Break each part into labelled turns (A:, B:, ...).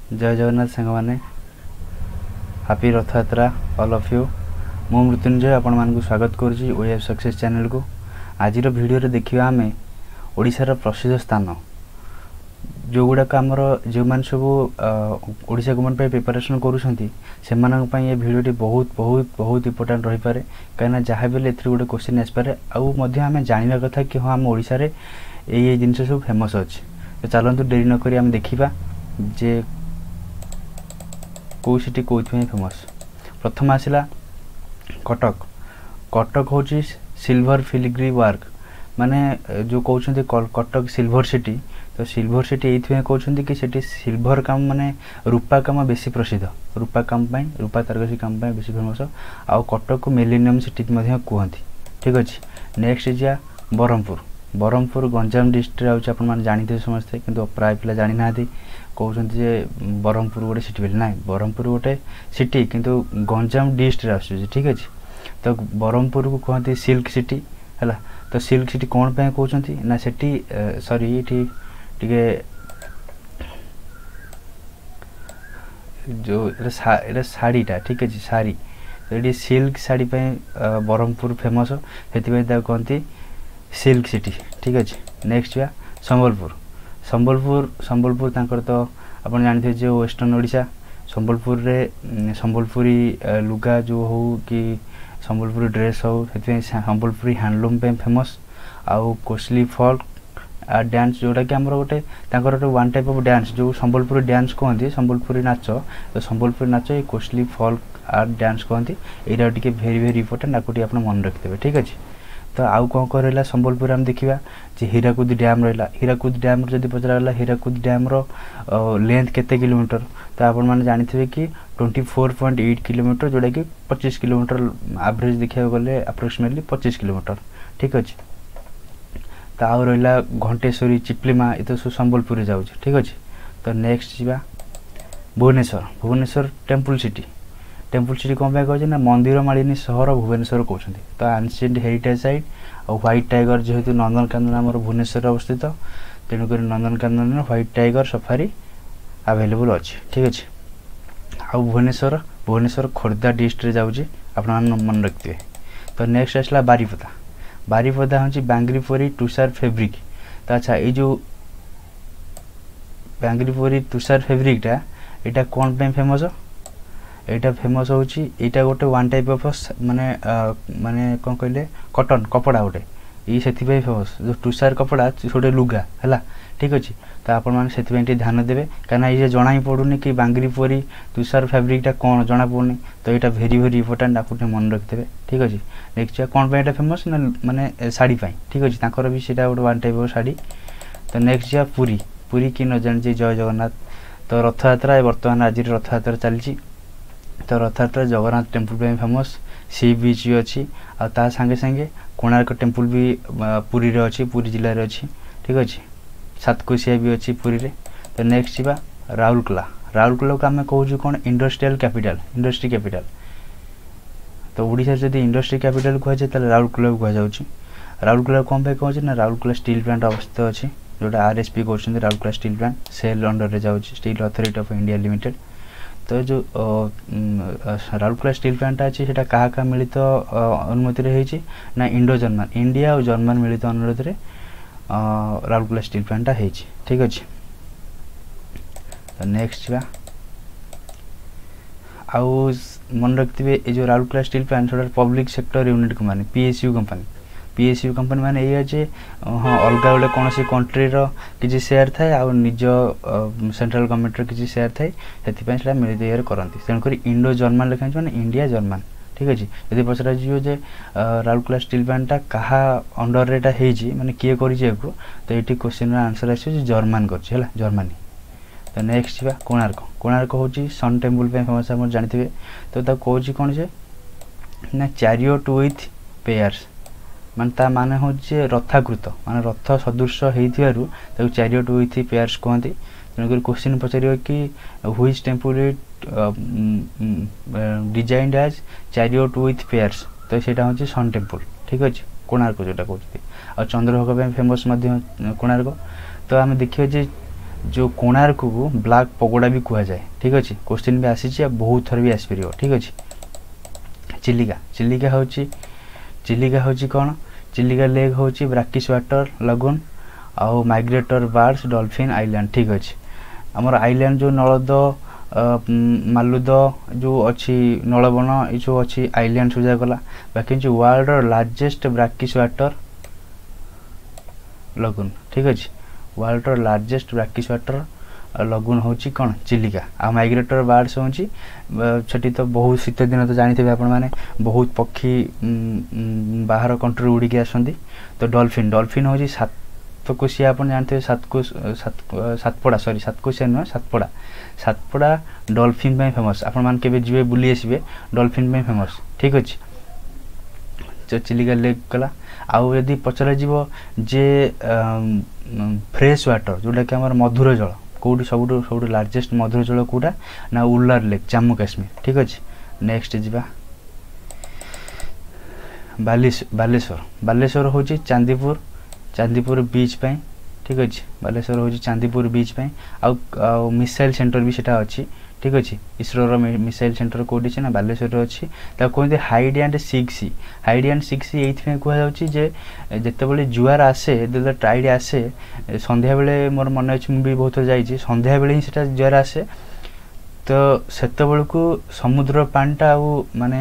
A: ଜୟ ଜଗନ୍ନାଥ ସାଙ୍ଗମାନେ, happy Rath Yatra all of you. ମୁଁ ମୃତ୍ୟୁଞ୍ଜୟ ଆପଣମାନଙ୍କୁ ସ୍ୱାଗତ କରୁଛି we of success ଚ୍ୟାନେଲକୁ। ଆଜିର ଭିଡ଼ିଓରେ ଦେଖିବା ଆମେ ଓଡ଼ିଶାର ପ୍ରସିଦ୍ଧ ସ୍ଥାନ ଯେଉଁଗୁଡ଼ାକ ଆମର ଯେଉଁମାନେ ସବୁ ଓଡ଼ିଶା ଗଭର୍ଣ୍ଣମେଣ୍ଟ ପାଇଁ ପ୍ରିପାରେସନ୍ କରୁଛନ୍ତି, ସେମାନଙ୍କ ପାଇଁ ଏ ଭିଡ଼ିଓଟି ବହୁତ ବହୁତ ବହୁତ ଇମ୍ପୋର୍ଟାଣ୍ଟ ରହିପାରେ, କାହିଁକିନା ଯାହା ବି ହେଲେ ଏଥିରୁ ଗୋଟେ କୋଶ୍ଚିନ୍ ଆସିପାରେ। ଆଉ ମଧ୍ୟ ଆମେ ଜାଣିବା କଥା କି ହଁ, ଆମ ଓଡ଼ିଶାରେ ଏଇ ଏଇ ଜିନିଷ ସବୁ ଫେମସ୍ ଅଛି। ତ ଚାଲନ୍ତୁ, ଡେରି ନକରି ଆମେ ଦେଖିବା ଯେ କେଉଁ ସିଟି କେଉଁଥିପାଇଁ ଫେମସ୍। ପ୍ରଥମ ଆସିଲା କଟକ। କଟକ ହେଉଛି ସିଲଭର ଫିଲିଗ୍ରି ୱାର୍କ, ମାନେ ଯେଉଁ କହୁଛନ୍ତି କଟକ ସିଲଭର ସିଟି। ତ ସିଲଭର ସିଟି ଏଇଥିପାଇଁ କହୁଛନ୍ତି କି ସେଠି ସିଲଭର କାମ, ମାନେ ରୂପା କାମ ବେଶୀ ପ୍ରସିଦ୍ଧ। ରୂପା କାମ ପାଇଁ, ରୂପା ତାରକସି କାମ ପାଇଁ ବେଶୀ ଫେମସ୍। ଆଉ କଟକକୁ ମିଲେନିୟମ୍ ସିଟି ମଧ୍ୟ କୁହନ୍ତି। ଠିକ୍ ଅଛି, ନେକ୍ସଟ ଯିବା ବ୍ରହ୍ମପୁର। ବ୍ରହ୍ମପୁର ଗଞ୍ଜାମ ଡିଷ୍ଟ୍ରିକ୍ଟରେ ଯାଉଛି, ଆପଣମାନେ ଜାଣିଥିବେ ସମସ୍ତେ, କିନ୍ତୁ ପ୍ରାୟ ପିଲା ଜାଣିନାହାନ୍ତି। କହୁଛନ୍ତି ଯେ ବ୍ରହ୍ମପୁର ଗୋଟେ ସିଟି ବୋଲି। ନାହିଁ, ବ୍ରହ୍ମପୁର ଗୋଟେ ସିଟି କିନ୍ତୁ ଗଞ୍ଜାମ ଡିଷ୍ଟ୍ରିକ୍ଟରେ ଆସୁଛି। ଠିକ୍ ଅଛି, ତ ବ୍ରହ୍ମପୁରକୁ କୁହନ୍ତି ସିଲ୍କ ସିଟି। ହେଲା, ତ ସିଲ୍କ ସିଟି କ'ଣ ପାଇଁ କହୁଛନ୍ତି ନା ସେଠି, ସରି, ଏଇଠି ଟିକେ ଯେଉଁ ଏଇଟା ଶାଢ଼ୀଟା, ଠିକ୍ ଅଛି, ଶାଢ଼ୀ। ତ ଏଠି ସିଲ୍କ ଶାଢ଼ୀ ପାଇଁ ବ୍ରହ୍ମପୁର ଫେମସ୍, ସେଥିପାଇଁ ତାକୁ କୁହନ୍ତି ସିଲ୍କ ସିଟି। ଠିକ୍ ଅଛି, ନେକ୍ସଟ ଯିବା ସମ୍ବଲପୁର। ସମ୍ବଲପୁର ତାଙ୍କର ତ ଆପଣ ଜାଣିଥିବେ ଯେ ୱେଷ୍ଟର୍ଣ୍ଣ ଓଡ଼ିଶା। ସମ୍ବଲପୁରରେ ସମ୍ବଲପୁରୀ ଲୁଗା ଯେଉଁ ହଉ କି ସମ୍ବଲପୁରୀ ଡ୍ରେସ୍ ହଉ, ସେଥିପାଇଁ ସମ୍ବଲପୁରୀ ହ୍ୟାଣ୍ଡଲୁମ୍ ପାଇଁ ଫେମସ୍। ଆଉ କୋଶଲି ଫଲ୍କ ଡ୍ୟାନ୍ସ, ଯେଉଁଟାକି ଆମର ଗୋଟେ ତାଙ୍କର ଗୋଟେ ୱାନ୍ ଟାଇପ୍ ଅଫ୍ ଡ୍ୟାନ୍ସ, ଯେଉଁ ସମ୍ବଲପୁରୀ ଡ୍ୟାନ୍ସ କୁହନ୍ତି, ସମ୍ବଲପୁରୀ ନାଚ। ତ ସମ୍ବଲପୁରୀ ନାଚ ଏଇ କୋଶଲି ଫଲ୍କ ଆର୍ଟ ଡ୍ୟାନ୍ସ କୁହନ୍ତି। ଏଇଟା ଟିକେ ଭେରି ଭେରି ଇମ୍ପୋର୍ଟାଣ୍ଟ, ଆକୁ ଟିକେ ଆପଣ ମନେ ରଖିଦେବେ। ଠିକ୍ ଅଛି, ତ ଆଉ କ'ଣ କ'ଣ ରହିଲା ସମ୍ବଲପୁରରେ ଆମେ ଦେଖିବା ଯେ ହୀରାକୁଦ ଡ୍ୟାମ୍ ରହିଲା। ହୀରାକୁଦ ଡ୍ୟାମ୍ର ଯଦି ପଚରାଗଲା ହୀରାକୁଦ ଡ୍ୟାମ୍ର ଲେନ୍ଥ କେତେ କିଲୋମିଟର, ତ ଆପଣମାନେ ଜାଣିଥିବେ କି 24.8 କିଲୋମିଟର, ଯେଉଁଟାକି 25 କିଲୋମିଟର ଆଭରେଜ୍ ଦେଖିବାକୁ ଗଲେ, ଆପ୍ରୋକ୍ସିମେଟଲି 25 କିଲୋମିଟର। ଠିକ୍ ଅଛି, ତ ଆଉ ରହିଲା ଘଣ୍ଟେଶ୍ୱରୀ, ଚିପଲିମା, ଏ ତ ସବୁ ସମ୍ବଲପୁରରେ ଯାଉଛି। ଠିକ୍ ଅଛି, ତ ନେକ୍ସଟ ଯିବା Bhubaneswar. Bhubaneswar temple city. Temple city କ'ଣ ପାଇଁ କହୁଛନ୍ତି ନା ମନ୍ଦିର ମାଳିନୀ ସହର ଭୁବନେଶ୍ୱର କହୁଛନ୍ତି। ତ ଆନସିଏଣ୍ଟ ହେରିଟେଜ୍ ସାଇଟ୍ ଆଉ ହ୍ୱାଇଟ୍ ଟାଇଗର, ଯେହେତୁ ନନ୍ଦନକାନନ ଆମର ଭୁବନେଶ୍ୱରରେ ଅବସ୍ଥିତ, ତେଣୁକରି ନନ୍ଦନକାନନରେ ହ୍ୱାଇଟ୍ ଟାଇଗର ସଫାରି ଆଭେଲେବୁଲ୍ ଅଛି। ଠିକ୍ ଅଛି, ଆଉ ଭୁବନେଶ୍ୱର ଖୋର୍ଦ୍ଧା ଡିଷ୍ଟ୍ରିକ୍ଟରେ ଯାଉଛି, ଆପଣମାନେ ମନେ ରଖିଥିବେ। ତ ନେକ୍ସଟ ଆସିଲା ବାରିପଦା। ବାରିପଦା ହେଉଛି ବାଙ୍ଗରିପୋରି ତୁଷାର ଫେବ୍ରିକ୍। ତ ଆଚ୍ଛା, ଏଇ ଯେଉଁ ବାଙ୍ଗରିପୋରି ତୁଷାର ଫେବ୍ରିକ୍ଟା, ଏଇଟା କ'ଣ ପାଇଁ ଫେମସ୍? ଏଇଟା ଫେମସ୍ ହେଉଛି, ଏଇଟା ଗୋଟେ ୱାନ୍ ଟାଇପ୍ ଅଫ୍ ମାନେ କ'ଣ କହିଲେ, କଟନ୍ କପଡ଼ା ଗୋଟେ ଏଇ, ସେଥିପାଇଁ ଫେମସ୍। ଯେଉଁ ତୁଷାର କପଡ଼ା, ଗୋଟେ ଲୁଗା ହେଲା। ଠିକ୍ ଅଛି, ତ ଆପଣମାନେ ସେଥିପାଇଁ ଟିକେ ଧ୍ୟାନ ଦେବେ, କାହିଁକିନା ଏଇ ଯେ ଜଣା ହିଁ ପଡ଼ୁନି କି ବାଙ୍ଗରିପୋରି ତୁଷାର ଫ୍ୟାବ୍ରିକ୍ଟା କ'ଣ ଜଣା ପଡ଼ୁନି। ତ ଏଇଟା ଭେରି ଭେରି ଇମ୍ପୋର୍ଟାଣ୍ଟ, ଆକୁ ଟିକେ ମନେ ରଖିଦେବେ। ଠିକ୍ ଅଛି, ନେକ୍ସଟ କ'ଣ ପାଇଁ ଏଇଟା ଫେମସ୍ ନା ମାନେ ଶାଢ଼ୀ ପାଇଁ। ଠିକ୍ ଅଛି, ତାଙ୍କର ବି ସେଇଟା ଗୋଟେ ୱାନ୍ ଟାଇପ୍ ଅଫ୍ ଶାଢ଼ୀ। ତ ନେକ୍ସଟ ଯିବା ପୁରୀ। ପୁରୀ କି ନ ଜାଣିଛି? ଜୟ ଜଗନ୍ନାଥ। ତ ରଥଯାତ୍ରା, ବର୍ତ୍ତମାନ ଆଜିର ରଥଯାତ୍ରା ଚାଲିଛି। ତ ରଥଯାତ୍ରା ଜଗନ୍ନାଥ ଟେମ୍ପୁଲ ପାଇଁ ଫେମସ୍, ସି ବିଚ୍ ବି ଅଛି, ଆଉ ତା ସାଙ୍ଗେ ସାଙ୍ଗେ କୋଣାର୍କ ଟେମ୍ପୁଲ ବି ପୁରୀରେ ଅଛି, ପୁରୀ ଜିଲ୍ଲାରେ ଅଛି। ଠିକ୍ ଅଛି, ସାତକୋଶିଆ ବି ଅଛି ପୁରୀରେ। ତ ନେକ୍ସଟ ଯିବା ରାଉରକେଲା। ରାଉରକେଲାକୁ ଆମେ କହୁଛୁ କ'ଣ? Industrial capital, industry capital. ତ ଓଡ଼ିଶାରେ ଯଦି ଇଣ୍ଡଷ୍ଟ୍ରି କ୍ୟାପିଟାଲ କୁହାଯାଏ, ତାହେଲେ ରାଉରକେଲାକୁ କୁହାଯାଉଛି। ରାଉରକେଲା କ'ଣ ପାଇଁ କହୁଛି ନା ରାଉରକେଲା ଷ୍ଟିଲ୍ ପ୍ଲାଣ୍ଟ ଅବସ୍ଥିତ ଅଛି, ଯେଉଁଟା ଆର୍ ଏସ୍ ପି କହୁଛନ୍ତି, ରାଉରକେଲା ଷ୍ଟିଲ୍ ପ୍ଲାଣ୍ଟ ସେଲ୍ ଅଣ୍ଡରରେ ଯାଉଛି, steel authority of India limited. ତ ଯେଉଁ ରାଉରକେଲା ଷ୍ଟିଲ୍ ପ୍ଲାଣ୍ଟଟା ଅଛି, ସେଇଟା କାହା କାହା ମିଳିତ ଅନୁମତିରେ ହେଇଛି ନା ଇଣ୍ଡୋ ଜର୍ମାନ, ଇଣ୍ଡିଆ ଆଉ ଜର୍ମାନ ମିଳିତ ଅନୁରୋଧରେ ରାଉରକେଲା ଷ୍ଟିଲ୍ ପ୍ଲାଣ୍ଟଟା ହେଇଛି। ଠିକ୍ ଅଛି, ତ ନେକ୍ସଟ ଯିବା। ଆଉ ମନେ ରଖିଥିବେ, ଏ ଯେଉଁ ରାଉରକେଲା ଷ୍ଟିଲ୍ ପ୍ଲାଣ୍ଟ, ସେଟା public sector unit company, PSU company. PSU company ମାନେ ଏଇଆ ଯେ ହଁ, ଅଲଗା ଗୋଟେ କୌଣସି କଣ୍ଟ୍ରିର କିଛି ସେୟାର ଥାଏ ଆଉ ନିଜ ସେଣ୍ଟ୍ରାଲ ଗଭର୍ଣ୍ଣମେଣ୍ଟର କିଛି ସେୟାର ଥାଏ, ସେଥିପାଇଁ ସେଇଟା ମିଳିତ ଇଏରେ କରନ୍ତି। ତେଣୁକରି ଇଣ୍ଡୋ ଜର୍ମାନ ଲେଖା ହେଇଛି, ମାନେ ଇଣ୍ଡିଆ ଜର୍ମାନ। ଠିକ୍ ଅଛି, ଯଦି ପଚରାଯିବ ଯେ ରାଉରକେଲା ଷ୍ଟିଲ୍ ପ୍ଲାଣ୍ଟଟା କାହା ଅଣ୍ଡରରେ ଏଇଟା ହେଇଛି, ମାନେ କିଏ କରିଛି ଏହାକୁ, ତ ଏଇଠି କୋଶ୍ଚିନ୍ର ଆନ୍ସର୍ ଆସିବ ଯେ ଜର୍ମାନ କରିଛି, ହେଲା, ଜର୍ମାନୀ। ତ ନେକ୍ସଟ ଯିବା କୋଣାର୍କ। କୋଣାର୍କ ହେଉଛି ସନ୍ ଟେମ୍ପୁଲ ପାଇଁ ଫେମସ୍, ଆପଣ ଜାଣିଥିବେ। ତ ତାକୁ କହୁଛି କ'ଣ ଯେ ନା ଚାରିଅଟ୍ ୱିଥ୍ ପେୟାର୍ସ, ମାନେ ତା ମାନେ ହେଉଛି ଯେ ରଥାକୃତ, ମାନେ ରଥ ସଦୃଶ ହେଇଥିବାରୁ ତାକୁ ଚାରିଅଟ୍ ୱିଥ୍ ପେୟାର୍ସ କୁହନ୍ତି। ତେଣୁକରି କୋଶ୍ଚିନ୍ ପଚାରିବ କି which temple it designed as chariot with pairs, ତ ସେଇଟା ହେଉଛି ସନ୍ ଟେମ୍ପୁଲ। ଠିକ୍ ଅଛି, କୋଣାର୍କ ଯେଉଁଟା କହୁଛନ୍ତି। ଆଉ ଚନ୍ଦ୍ରଭାଗା ପାଇଁ ଫେମସ୍ ମଧ୍ୟ କୋଣାର୍କ। ତ ଆମେ ଦେଖିବା ଯେ ଯେଉଁ କୋଣାର୍କକୁ ବ୍ଲାକ୍ ପଗୋଡ଼ା ବି କୁହାଯାଏ। ଠିକ୍ ଅଛି, କୋଶ୍ଚିନ୍ ବି ଆସିଛି ଆଉ ବହୁତ ଥର ବି ଆସିପାରିବ। ଠିକ୍ ଅଛି, ଚିଲିକା, ଚିଲିକା ହେଉଛି କ'ଣ? ଚିଲିକା ଲେକ୍ ହେଉଛି ବ୍ରାକିସ୍ ୱାଟର ଲାଗୁନ୍ ଆଉ ମାଇଗ୍ରେଟର ବାର୍ଡସ୍, ଡଲଫିନ୍ ଆଇଲ୍ୟାଣ୍ଡ। ଠିକ୍ ଅଛି, ଆମର ଆଇଲ୍ୟାଣ୍ଡ ଯେଉଁ ନଳଦ, ମାଲୁଦ ଯେଉଁ ଅଛି, ନଳବନ ଏସବୁ ଅଛି, ଆଇଲ୍ୟାଣ୍ଡ ସବୁ ଯାକ ଗଲା। ବାକି ହେଉଛି ୱାର୍ଲଡର ଲାର୍ଜେଷ୍ଟ ବ୍ରାକିସ୍ ୱାଟର ଲଗୁନ୍। ଠିକ୍ ଅଛି, ୱାର୍ଲଡର ଲାର୍ଜେଷ୍ଟ ବ୍ରାକିସ୍ ୱାଟର ଲଗୁନ୍ ହେଉଛି କ'ଣ? ଚିଲିକା। ଆଉ ମାଇଗ୍ରେଟର ବାର୍ଡସ୍ ହେଉଛି ସେଠି ତ ବହୁତ ଶୀତ ଦିନ ତ ଜାଣିଥିବେ ଆପଣମାନେ, ବହୁତ ପକ୍ଷୀ ବାହାର କଣ୍ଟ୍ରିରୁ ଉଡ଼ିକି ଆସନ୍ତି। ତ ଡଲଫିନ୍, ଡଲଫିନ୍ ହେଉଛି ସାତକୋଶିଆ, ଆପଣ ଜାଣିଥିବେ ସାତପଡ଼ା, ସରି ସାତକୋଶିଆ ନୁହେଁ ସାତପଡ଼ା, ସାତପଡ଼ା ଡଲଫିନ୍ ପାଇଁ ଫେମସ୍। ଆପଣମାନେ କେବେ ଯିବେ ବୁଲି ଆସିବେ, ଡଲଫିନ୍ ପାଇଁ ଫେମସ୍। ଠିକ୍ ଅଛି, ଚିଲିକା ଲେକ୍ ଗଲା। ଆଉ ଯଦି ପଚରାଯିବ ଯେ ଫ୍ରେଶ୍ ୱାଟର ଯେଉଁଟାକି ଆମର ମଧୁର ଜଳ, କେଉଁଠି ସବୁଠୁ ଲାର୍ଜେଷ୍ଟ ମଧୁର ଜଳ କେଉଁଟା ନା ଉଲାର ଲେକ୍, ଜାମ୍ମୁ କାଶ୍ମୀର। ଠିକ୍ ଅଛି, ନେକ୍ସଟ ଯିବା ବାଲେଶ୍ୱର। ବାଲେଶ୍ୱର ହେଉଛି ଚାନ୍ଦିପୁର, ଚାନ୍ଦିପୁର ବିଚ୍ ପାଇଁ। ଠିକ୍ ଅଛି, ବାଲେଶ୍ୱର ହେଉଛି ଚାନ୍ଦିପୁର ବିଚ୍ ପାଇଁ। ଆଉ ଆଉ ମିସାଇଲ୍ ସେଣ୍ଟର ବି ସେଟା ଅଛି। ଠିକ୍ ଅଛି, ଇସ୍ରୋର ମିସାଇଲ୍ ସେଣ୍ଟର କେଉଁଠି ଅଛି ନା ବାଲେଶ୍ୱରରେ ଅଛି। ତାକୁ କୁହନ୍ତି hide and seek sea. Hide and seek sea ଏଇଥିପାଇଁ କୁହାଯାଉଛି ଯେ ଯେତେବେଳେ ଜୁଆର ଆସେ, ଯେତେବେଳେ ଟାଇଡ୍ ଆସେ ସନ୍ଧ୍ୟାବେଳେ, ମୋର ମନେ ଅଛି ମୁଁ ବି ବହୁତ ଥର ଯାଇଛି, ସନ୍ଧ୍ୟାବେଳେ ହିଁ ସେଟା ଜୁଆର ଆସେ। ତ ସେତେବେଳକୁ ସମୁଦ୍ର ପାଣିଟା ଆଉ ମାନେ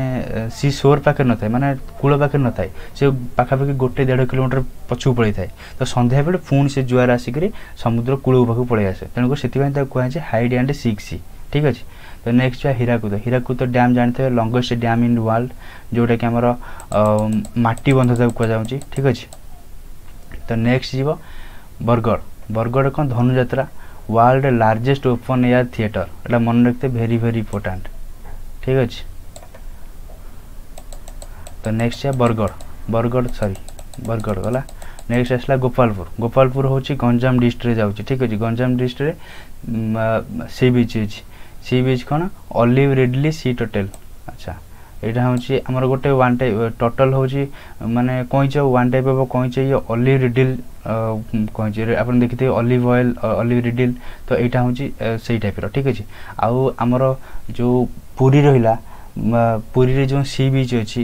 A: ସି ସୋର୍ ପାଖରେ ନଥାଏ, ମାନେ କୂଳ ପାଖରେ ନଥାଏ, ସେ ପାଖାପାଖି 1-1.5 କିଲୋମିଟର ପଛକୁ ପଳେଇଥାଏ। ତ ସନ୍ଧ୍ୟାବେଳେ ପୁଣି ସେ ଜୁଆର ଆସିକରି ସମୁଦ୍ର କୂଳ ପାଖକୁ ପଳେଇ ଆସେ, ତେଣୁକରି ସେଥିପାଇଁ ତାକୁ କୁହାଯାଏ ହାଇଡ୍ ଆଣ୍ଡ ସିକ୍ ସି। ଠିକ୍ ଅଛି, ତ ନେକ୍ସଟ ଯିବା ହୀରାକୁଦ। ହୀରାକୁଦ ଡ୍ୟାମ୍ ଜାଣିଥିବେ, ଲଙ୍ଗେଷ୍ଟ ଡ୍ୟାମ୍ ଇନ୍ ୱାର୍ଲଡ, ଯେଉଁଟାକି ଆମର ମାଟି ବନ୍ଧ ତାକୁ କୁହାଯାଉଛି। ଠିକ୍ ଅଛି, ତ ନେକ୍ସଟ ଯିବ ବରଗଡ଼। ବରଗଡ଼ କ'ଣ? Dhanuyatra, world largest open air theatre, ଏଇଟା ମନେ ରଖିତେ, ଭେରି ଭେରି ଇମ୍ପୋର୍ଟାଣ୍ଟ। ଠିକ୍ ଅଛି, ତ ନେକ୍ସଟ ଯିବା ବରଗଡ଼, ବରଗଡ଼ ସରି ବରଗଡ଼ ଗଲା। ନେକ୍ସଟ ଆସିଲା ଗୋପାଳପୁର। ଗୋପାଳପୁର ହେଉଛି ଗଞ୍ଜାମ ଡିଷ୍ଟ୍ରିକ୍ଟରେ ଯାଉଛି। ଠିକ୍ ଅଛି, ଗଞ୍ଜାମ ଡିଷ୍ଟ୍ରିକ୍ଟରେ ସି ବିଚ୍ ଅଛି। ସି ବିଚ୍ କ'ଣ? Olive ridley sea turtle. ଆଚ୍ଛା, ଏଇଟା ହେଉଛି ଆମର ଗୋଟେ ୱାନ୍ ଟାଇପ୍ ଟଟଲ୍ ହେଉଛି ମାନେ କଇଁଚ, ୱାନ୍ ଟାଇପ୍ ଅଫ୍ କଇଁଚ, ଇଏ ଅଲିଭ୍ ରିଡିଲ୍ କଇଁଚ, ଆପଣ ଦେଖିଥିବେ ଅଲିଭ୍ ଅଏଲ୍, ଅଲିଭ୍ ରିଡିଲ୍, ତ ଏଇଟା ହେଉଛି ସେଇ ଟାଇପ୍ର। ଠିକ୍ ଅଛି, ଆଉ ଆମର ଯେଉଁ ପୁରୀ ରହିଲା, ପୁରୀରେ ଯେଉଁ ସି ବିଚ୍ ଅଛି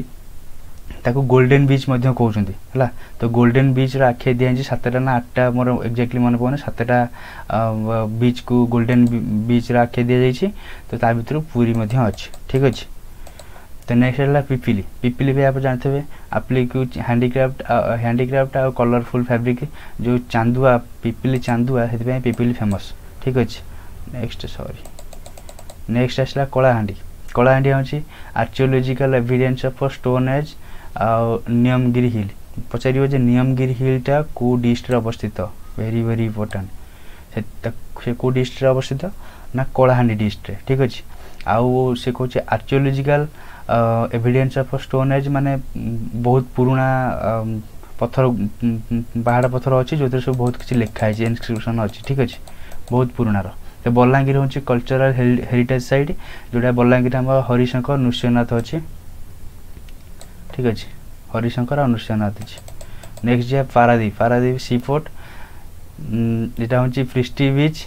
A: ତାକୁ ଗୋଲ୍ଡେନ୍ ବିଚ୍ ମଧ୍ୟ କହୁଛନ୍ତି। ହେଲା, ତ ଗୋଲ୍ଡେନ୍ ବିଚ୍ର ଆଖ୍ୟା ଦିଆଯାଇଛି 7ଟା ନା 8ଟା, ମୋର ଏକ୍ଜାକ୍ଟଲି ମନେ ପଡ଼ୁନି, 7ଟା ବିଚ୍କୁ ଗୋଲ୍ଡେନ୍ ବିଚ୍ର ଆଖ୍ୟା ଦିଆଯାଇଛି। ତ ତା ଭିତରୁ ପୁରୀ ମଧ୍ୟ ଅଛି। ଠିକ୍ ଅଛି, ତ ନେକ୍ସଟ ହେଲା ପିପିଲି। ପିପିଲି ବି ଆପଣ ଜାଣିଥିବେ, ଆପ୍ଲିକୁ ହ୍ୟାଣ୍ଡିକ୍ରାଫ୍ଟ, ହ୍ୟାଣ୍ଡିକ୍ରାଫ୍ଟ ଆଉ କଲରଫୁଲ୍ ଫ୍ୟାବ୍ରିକ୍, ଯେଉଁ ଚାନ୍ଦୁଆ, ପିପିଲି ଚାନ୍ଦୁଆ, ସେଥିପାଇଁ ପିପିଲି ଫେମସ୍। ଠିକ୍ ଅଛି, ନେକ୍ସଟ ସରି ନେକ୍ସଟ ଆସିଲା କଳାହାଣ୍ଡି। କଳାହାଣ୍ଡି ହେଉଛି archaeological evidence of stone age ଆଉ ନିୟମଗିରି ହିଲ୍। ପଚାରିବ ଯେ ନିୟମଗିରି ହିଲ୍ଟା କେଉଁ ଡିଷ୍ଟ୍ରିକ୍ଟରେ ଅବସ୍ଥିତ? Very very important. ସେ କେଉଁ ଡିଷ୍ଟ୍ରିକ୍ଟରେ ଅବସ୍ଥିତ ନା କଳାହାଣ୍ଡି ଡିଷ୍ଟ୍ରିକ୍ଟରେ। ଠିକ୍ ଅଛି, ଆଉ ସେ କହୁଛି archaeological evidence of stone age, ମାନେ ବହୁତ ପୁରୁଣା ପଥର, ପାହାଡ଼ ପଥର ଅଛି ଯେଉଁଥିରେ ସବୁ ବହୁତ କିଛି ଲେଖା ହେଇଛି, ଇନସ୍କ୍ରିପସନ୍ ଅଛି। ଠିକ୍ ଅଛି, ବହୁତ ପୁରୁଣାର। ତ ବଲାଙ୍ଗୀର ହେଉଛି କଲଚରାଲ ହେରିଟେଜ୍ ସାଇଟ୍, ଯେଉଁଟା ବଲାଙ୍ଗୀର ଆମର ହରିଶଙ୍କର, ନୃସିଂହନାଥ ଅଛି। ଠିକ୍ ଅଛି, ହରିଶଙ୍କର ଆଉ ନୃସିଂହନାଥ ଅଛି। ନେକ୍ସଟ ଯିବା ପାରାଦ୍ୱୀପ। ପାରାଦ୍ୱୀପ ସି ପୋର୍ଟ, ଏଇଟା ହେଉଛି ପ୍ରିଷ୍ଟି ବିଚ୍,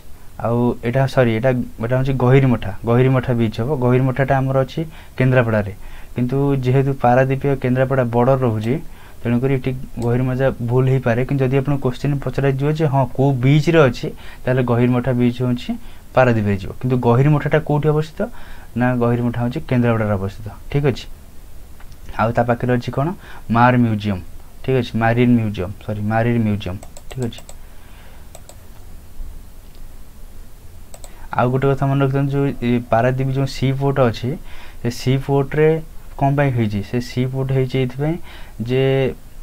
A: ଆଉ ଏଇଟା ସରି ଏଇଟା ଏଇଟା ହେଉଛି ଗହିରମଠା, ଗହିରମଠା ବିଚ୍ ହେବ। ଗହିରମଠାଟା ଆମର ଅଛି କେନ୍ଦ୍ରାପଡ଼ାରେ, କିନ୍ତୁ ଯେହେତୁ ପାରାଦ୍ୱୀପ ଆଉ କେନ୍ଦ୍ରାପଡ଼ା ବର୍ଡ଼ର ରହୁଛି, ତେଣୁକରି ଏଠି ଗହିରମଠା ଭୁଲ ହେଇପାରେ। କିନ୍ତୁ ଯଦି ଆପଣ କୋଶ୍ଚିନ୍ ପଚରାଯିବ ଯେ ହଁ କେଉଁ ବିଚ୍ରେ ଅଛି, ତାହେଲେ ଗହିରମଠା ବିଚ୍ ହେଉଛି ପାରାଦ୍ୱୀପରେ ଯିବ। କିନ୍ତୁ ଗହିରମଠାଟା କେଉଁଠି ଅବସ୍ଥିତ ନା ଗହିରମଠା ହେଉଛି କେନ୍ଦ୍ରାପଡ଼ାରେ ଅବସ୍ଥିତ। ଠିକ୍ ଅଛି, ଆଉ ତା ପାଖରେ ଅଛି କ'ଣ? ମାର ମ୍ୟୁଜିୟମ୍। ଠିକ୍ ଅଛି, marine museum, sorry marine museum. ଠିକ୍ ଅଛି, ଆଉ ଗୋଟେ କଥା ମନେ ରଖିଥାନ୍ତୁ, ଯେଉଁ ପାରାଦ୍ୱୀପ ଯେଉଁ ସି ପୋର୍ଟ ଅଛି, ସେ ସି ପୋର୍ଟରେ କ'ଣ ପାଇଁ ହେଇଛି? ସେ ସି ପୋର୍ଟ ହେଇଛି ଏଇଥିପାଇଁ ଯେ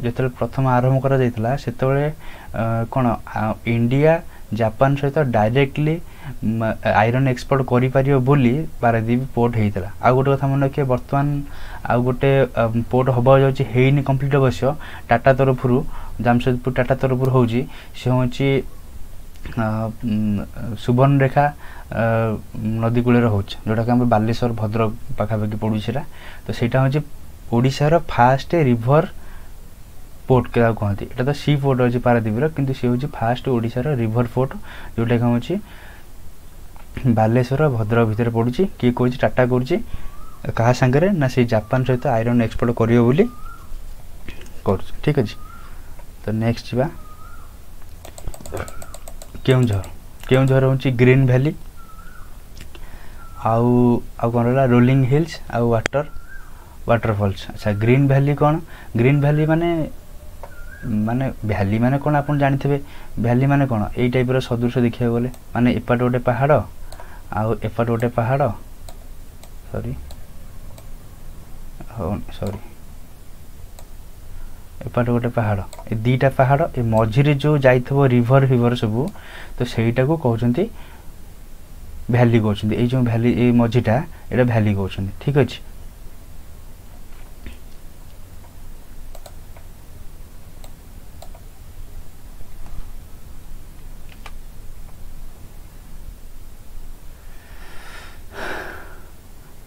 A: ଯେତେବେଳେ ପ୍ରଥମ ଆରମ୍ଭ କରାଯାଇଥିଲା ସେତେବେଳେ କ'ଣ ଇଣ୍ଡିଆ ଜାପାନ ସହିତ ଡାଇରେକ୍ଟଲି ଆଇରନ୍ ଏକ୍ସପୋର୍ଟ କରିପାରିବ ବୋଲି ପାରାଦ୍ୱୀପ ପୋର୍ଟ ହେଇଥିଲା। ଆଉ ଗୋଟେ କଥା ମନେ ରଖିବେ, ବର୍ତ୍ତମାନ ଆଉ ଗୋଟେ ପୋର୍ଟ ହେବାକୁ ଯାଉଛି, ହେଇନି କମ୍ପ୍ଲିଟ୍ ଅବଶ୍ୟ, ଟାଟା ତରଫରୁ, ଜାମସେଦପୁର ଟାଟା ତରଫରୁ ହେଉଛି, ସେ ହେଉଛି ସୁବର୍ଣ୍ଣରେଖା ନଦୀ କୂଳରେ ହେଉଛି, ଯେଉଁଟାକି ଆମର ବାଲେଶ୍ୱର ଭଦ୍ରକ ପାଖାପାଖି ପଡ଼ୁଛି ସେଇଟା। ତ ସେଇଟା ହେଉଛି ଓଡ଼ିଶାର ଫାଷ୍ଟ ରିଭର ପୋର୍ଟ କାହାକୁ କହନ୍ତି? ଏଇଟା ତ ସି ପୋର୍ଟ ଅଛି ପାରାଦ୍ୱୀପର, କିନ୍ତୁ ସିଏ ହେଉଛି ଫାଷ୍ଟ ଓଡ଼ିଶାର ରିଭର ପୋର୍ଟ, ଯେଉଁଟାକି ହେଉଛି ବାଲେଶ୍ୱର ଭଦ୍ରକ ଭିତରେ ପଡ଼ୁଛି। କିଏ କହୁଛି? ଟାଟା କରୁଛି। କାହା ସାଙ୍ଗରେ ନା ସେଇ ଜାପାନ ସହିତ ଆଇରନ୍ ଏକ୍ସପୋର୍ଟ କରିବ ବୋଲି କରୁଛି। ଠିକ୍ ଅଛି, ତ ନେକ୍ସଟ ଯିବା କେଉଁଝର। କେଉଁଝର ହେଉଛି ଗ୍ରୀନ୍ ଭ୍ୟାଲି, ଆଉ ଆଉ କ'ଣ ରହିଲା? ରୋଲିଂ ହିଲ୍ସ ଆଉ ୱାଟରଫଲ୍ସ। ଆଚ୍ଛା, ଗ୍ରୀନ୍ ଭ୍ୟାଲି କ'ଣ? ଗ୍ରୀନ୍ ଭ୍ୟାଲି ମାନେ ମାନେ ଭ୍ୟାଲି ମାନେ କ'ଣ ଆପଣ ଜାଣିଥିବେ। ଭ୍ୟାଲି ମାନେ କ'ଣ? ଏଇ ଟାଇପ୍ର ସଦୃଶ ଦେଖିବାକୁ ଗଲେ, ମାନେ ଏପଟେ ଗୋଟେ ପାହାଡ଼ ଆଉ ଏପଟେ ଗୋଟେ ପାହାଡ଼, ସରି ହଉ ସରି, ଏପଟେ ଗୋଟେ ପାହାଡ଼, ଏ ଦୁଇଟା ପାହାଡ଼, ଏ ମଝିରେ ଯେଉଁ ଯାଇଥିବ ରିଭର ଫିଭର ସବୁ, ତ ସେଇଟାକୁ କହୁଛନ୍ତି ଭ୍ୟାଲି କହୁଛନ୍ତି। ଏଇ ଯେଉଁ ଭ୍ୟାଲି, ଏଇ ମଝିଟା, ଏଇଟା ଭ୍ୟାଲି କହୁଛନ୍ତି। ଠିକ୍ ଅଛି,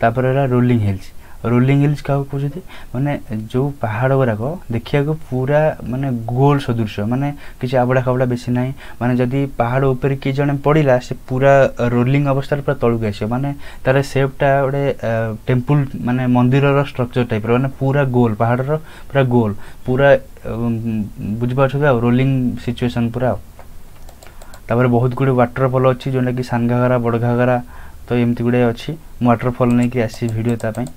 A: ତାପରେ ହେଲା ରୋଲିଂ ହିଲ୍ସ। ରୋଲିଂ ହିଲ୍ସ କାହାକୁ କହୁଛନ୍ତି? ମାନେ ଯେଉଁ ପାହାଡ଼ ଗୁଡ଼ାକ ଦେଖିବାକୁ ପୁରା ମାନେ ଗୋଲ ସଦୃଶ, ମାନେ କିଛି ଆବଡ଼ା ଖାବଡ଼ା ବେଶୀ ନାହିଁ, ମାନେ ଯଦି ପାହାଡ଼ ଉପରେ କିଏ ଜଣେ ପଡ଼ିଲା ସେ ପୁରା ରୋଲିଂ ଅବସ୍ଥାରେ ପୁରା ତଳକୁ ଆସିବ, ମାନେ ତାର ସେପ୍ଟା ଗୋଟେ ଟେମ୍ପୁଲ ମାନେ ମନ୍ଦିରର ଷ୍ଟ୍ରକ୍ଚର ଟାଇପ୍ର, ମାନେ ପୁରା ଗୋଲ, ପାହାଡ଼ର ପୁରା ଗୋଲ ପୁରା, ବୁଝିପାରୁଛନ୍ତି? ଆଉ ରୋଲିଂ ସିଚୁଏସନ୍ ପୁରା। ଆଉ ତାପରେ ବହୁତ ଗୁଡ଼ିଏ ୱାଟରଫଲ୍ ଅଛି, ଯେଉଁଟାକି ସାନଘାଗରା, ବଡ଼ଘାଗରା, ତ ଏମିତି ଗୁଡ଼ିଏ ଅଛି। ମୁଁ ୱାଟରଫଲ୍ ନେଇକି ଆସିବି ଭିଡ଼ିଓ ତା ପାଇଁ।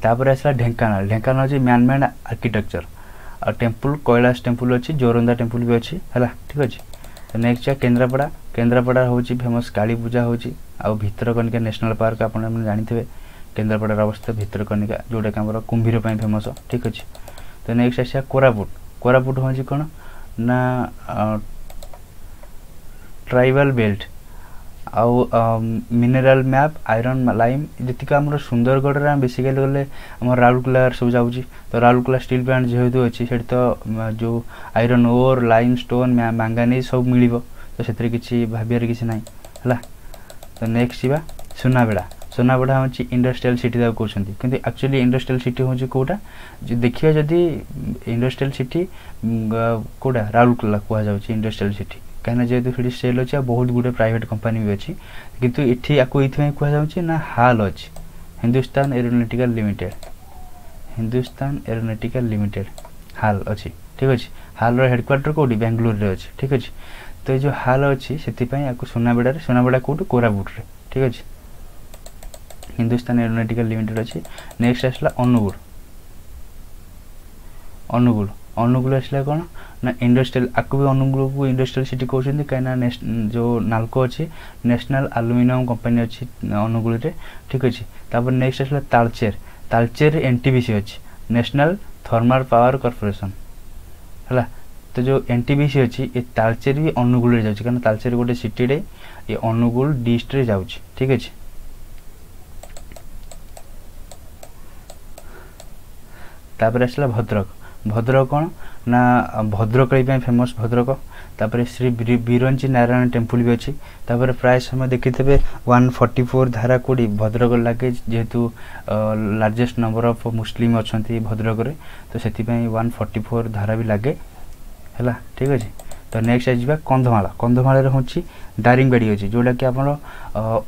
A: ତାପରେ ଆସିଲା ଢେଙ୍କାନାଳ। ଢେଙ୍କାନାଳ ହେଉଛି ମ୍ୟାନ୍ ମେଡ୍ ଆର୍କିଟେକ୍ଚର ଆଉ ଟେମ୍ପୁଲ, କୈଳାସ ଟେମ୍ପୁଲ ଅଛି, ଜୋରନ୍ଦା ଟେମ୍ପୁଲ ବି ଅଛି। ହେଲା, ଠିକ୍ ଅଛି। ତ ନେକ୍ସଟ କେନ୍ଦ୍ରାପଡ଼ା। କେନ୍ଦ୍ରାପଡ଼ା ହେଉଛି ଫେମସ୍ କାଳୀ ପୂଜା ହେଉଛି, ଆଉ ଭିତରକନିକା ନ୍ୟାସନାଲ୍ ପାର୍କ ଆପଣମାନେ ଜାଣିଥିବେ କେନ୍ଦ୍ରାପଡ଼ାର ଅବସ୍ଥା, ଭିତରକନିକା ଯେଉଁଟାକି ଆମର କୁମ୍ଭୀର ପାଇଁ ଫେମସ୍। ଠିକ୍ ଅଛି, ତ ନେକ୍ସଟ ଆସିବା କୋରାପୁଟ। କୋରାପୁଟ ହେଉଛି କ'ଣ ନା ଟ୍ରାଇବାଲ୍ ବେଲ୍ଟ ଆଉ ମିନେରାଲ୍ ମ୍ୟାପ୍, ଆଇରନ୍ ଲାଇମ୍। ଯେତିକି ଆମର ସୁନ୍ଦରଗଡ଼ରେ ଆମେ ବେସିକାଲି ଗଲେ ଆମର ରାଉରକେଲାରେ ସବୁ ଯାଉଛି, ତ ରାଉରକେଲା ଷ୍ଟିଲ୍ ପ୍ଲାଣ୍ଟ ଯେହେତୁ ଅଛି ସେଠି ତ ଯେଉଁ iron ore, limestone, manganese ସବୁ ମିଳିବ, ତ ସେଥିରେ କିଛି ଭାବିବାର କିଛି ନାହିଁ। ହେଲା, ତ ନେକ୍ସଟ ଯିବା ସୁନାବେଡ଼ା। ସୁନାବେଡ଼ା ହେଉଛି ଇଣ୍ଡଷ୍ଟ୍ରିଆଲ ସିଟି ତାକୁ କହୁଛନ୍ତି, କିନ୍ତୁ ଆକ୍ଚୁଆଲି ଇଣ୍ଡଷ୍ଟ୍ରିଆଲ ସିଟି ହେଉଛି କେଉଁଟା ଦେଖିବା ଯଦି ଇଣ୍ଡଷ୍ଟ୍ରିଆଲ ସିଟି କେଉଁଟା, ରାଉରକେଲା କୁହାଯାଉଛି ଇଣ୍ଡଷ୍ଟ୍ରିଆଲ ସିଟି, କାହିଁକିନା ଯେହେତୁ ସେଠି ସେଲ୍ ଅଛି ଆଉ ବହୁତ ଗୁଡ଼ିଏ ପ୍ରାଇଭେଟ୍ କମ୍ପାନୀ ବି ଅଛି। କିନ୍ତୁ ଏଠି ଆକୁ ଏଇଥିପାଇଁ କୁହାଯାଉଛି ନା ହାଲ୍ ଅଛି, Hindustan aeronautical limited, Hindustan aeronautical limited HAL ଅଛି। ଠିକ୍ ଅଛି, ହାଲ୍ର ହେଡ଼କ୍ୱାର୍ଟର କେଉଁଠି? ବାଙ୍ଗାଲୋରରେ ଅଛି। ଠିକ୍ ଅଛି, ତ ଏଇ ଯେଉଁ ହାଲ୍ ଅଛି ସେଥିପାଇଁ ଆକୁ ସୁନାବେଡ଼ାରେ, ସୁନାବେଡ଼ା କେଉଁଠି? କୋରାପୁଟରେ। ଠିକ୍ ଅଛି, ହିନ୍ଦୁସ୍ତାନ ଏରୋନଟିକାଲ ଲିମିଟେଡ୍ ଅଛି। ନେକ୍ସଟ ଆସିଲା ଅନୁଗୁଳ। ଅନୁଗୁଳ, ଅନୁଗୁଳ ଆସିଲା କ'ଣ ନା ଇଣ୍ଡଷ୍ଟ୍ରିଆଲ, ଆକୁ ବି ଅନୁଗୁଳକୁ ଇଣ୍ଡଷ୍ଟ୍ରିଆଲ ସିଟି କହୁଛନ୍ତି, କାହିଁକିନା ଯେଉଁ ନାଲକୋ ଅଛି, ନ୍ୟାସନାଲ୍ ଆଲୁମିନିୟମ କମ୍ପାନୀ ଅଛି ଅନୁଗୁଳରେ। ଠିକ୍ ଅଛି, ତାପରେ ନେକ୍ସଟ ଆସିଲା ତାଳଚେର। ତାଳଚେରରେ NTPC ଅଛି, ନ୍ୟାସନାଲ୍ ଥର୍ମାଲ ପାୱାର କର୍ପୋରେସନ୍। ହେଲା, ତ ଯେଉଁ NTPC ଅଛି ଏ ତାଳଚେର ବି ଅନୁଗୁଳରେ ଯାଉଛି, କାରଣ ତାଳଚେର ଗୋଟେ ସିଟିରେ, ଏ ଅନୁଗୁଳ ଡିଷ୍ଟ୍ରିକ୍ଟରେ ଯାଉଛି। ଠିକ୍ ଅଛି, ତାପରେ ଆସିଲା ଭଦ୍ରକ। ଭଦ୍ରକ କ'ଣ ନା ଭଦ୍ରକାଳୀ ପାଇଁ ଫେମସ୍ ଭଦ୍ରକ। ତାପରେ ଶ୍ରୀ ବିରଞ୍ଚି ନାରାୟଣ ଟେମ୍ପୁଲ ବି ଅଛି। ତାପରେ ପ୍ରାୟ ସମୟ ଦେଖିଥିବେ 144 ଧାରା କୋଡ଼ି ଭଦ୍ରକ ଲାଗେ, ଯେହେତୁ ଲାର୍ଜେଷ୍ଟ ନମ୍ବର ଅଫ୍ ମୁସଲିମ୍ ଅଛନ୍ତି ଭଦ୍ରକରେ, ତ ସେଥିପାଇଁ 144 ଧାରା ବି ଲାଗେ। ହେଲା, ଠିକ୍ ଅଛି, ତ ନେକ୍ସଟ ଆସିଯିବା କନ୍ଧମାଳ। କନ୍ଧମାଳରେ ହେଉଛି ଦାରିଙ୍ଗବାଡ଼ି ଅଛି, ଯେଉଁଟାକି ଆମର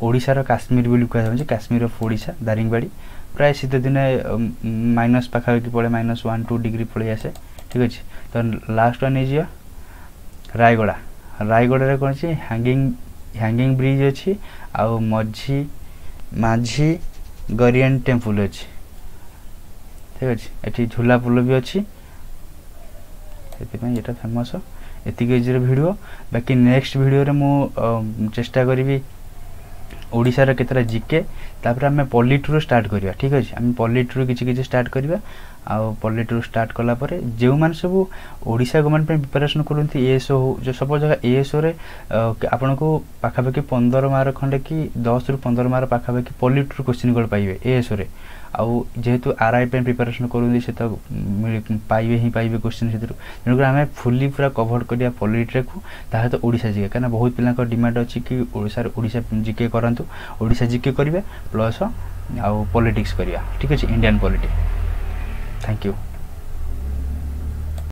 A: ଓଡ଼ିଶାର କାଶ୍ମୀର ବୋଲି କୁହାଯାଉଛି, କାଶ୍ମୀର ଅଫ୍ ଓଡ଼ିଶା ଦାରିଙ୍ଗବାଡ଼ି। ପ୍ରାୟ ଶୀତ ଦିନେ ମାଇନସ୍ ପାଖାପାଖି ପଡ଼େ, -1-2 ଡିଗ୍ରୀ ପଳେଇ ଆସେ। ଠିକ୍ ଅଛି, ତ ଲାଷ୍ଟ ୱାନ୍ ନେଇଯିବା ରାୟଗଡ଼ା। ରାୟଗଡ଼ାରେ କ'ଣ ଅଛି? ହ୍ୟାଙ୍ଗିଂ ବ୍ରିଜ୍ ଅଛି, ଆଉ ମାଝି ଗରିଆନ ଟେମ୍ପୁଲ ଅଛି। ଠିକ୍ ଅଛି, ଏଠି ଝୁଲା ପୋଲ ବି ଅଛି, ସେଥିପାଇଁ ଏଇଟା ଫେମସ୍। ଏତିକି ଆଜିର ଭିଡ଼ିଓ, ବାକି ନେକ୍ସଟ ଭିଡ଼ିଓରେ ମୁଁ ଚେଷ୍ଟା କରିବି ଓଡ଼ିଶାର କେତେଟା ଜିକେ, ତାପରେ ଆମେ ପଲିଟିରୁ ଷ୍ଟାର୍ଟ କରିବା। ଠିକ୍ ଅଛି, ଆମେ ପଲିଟିରୁ କିଛି କିଛି ଷ୍ଟାର୍ଟ କରିବା, ଆଉ ପଲିଟିରୁ ଷ୍ଟାର୍ଟ କଲା ପରେ ଯେଉଁମାନେ ସବୁ ଓଡ଼ିଶା ଗଭର୍ଣ୍ଣମେଣ୍ଟ ପାଇଁ ପ୍ରିପାରେସନ୍ କରନ୍ତି, ଏଏସ୍ଓ ହଉ, ଯେଉଁ ସପୋଜ ଏଏସ୍ଓରେ ଆପଣଙ୍କୁ ପାଖାପାଖି 15 ମାର୍କ ଖଣ୍ଡେ କି 10ରୁ 15 ମାର୍କ ପାଖାପାଖି ପଲିଟିରୁ କୋଶ୍ଚିନ୍ ଗୁଡ଼ା ପାଇବେ ଏଏସ୍ଓରେ। ଆଉ ଯେହେତୁ ଆର୍ I ପାଇଁ ପ୍ରିପାରେସନ୍ କରନ୍ତି ସେ ତ ପାଇବେ ହିଁ ପାଇବେ କୋଶ୍ଚିନ୍ ସେଥିରୁ। ତେଣୁକରି ଆମେ ଫୁଲି ପୁରା କଭର୍ କରିବା ପଲିଟିକୁ, ତା ସହିତ ଓଡ଼ିଶା ଜିକେ, କାହିଁକିନା ବହୁତ ପିଲାଙ୍କ ଡିମାଣ୍ଡ ଅଛି କି ଓଡ଼ିଶାରେ ଓଡ଼ିଶା ଜିକେ କରାନ୍ତୁ, ଓଡ଼ିଶା ଜିକେ କରିବା ପ୍ଲସ୍ ଆଉ ପଲିଟିକ୍ସ କରିବା। ଠିକ୍ ଅଛି, ଇଣ୍ଡିଆନ୍ ପଲିଟିକ୍ସ। Thank you.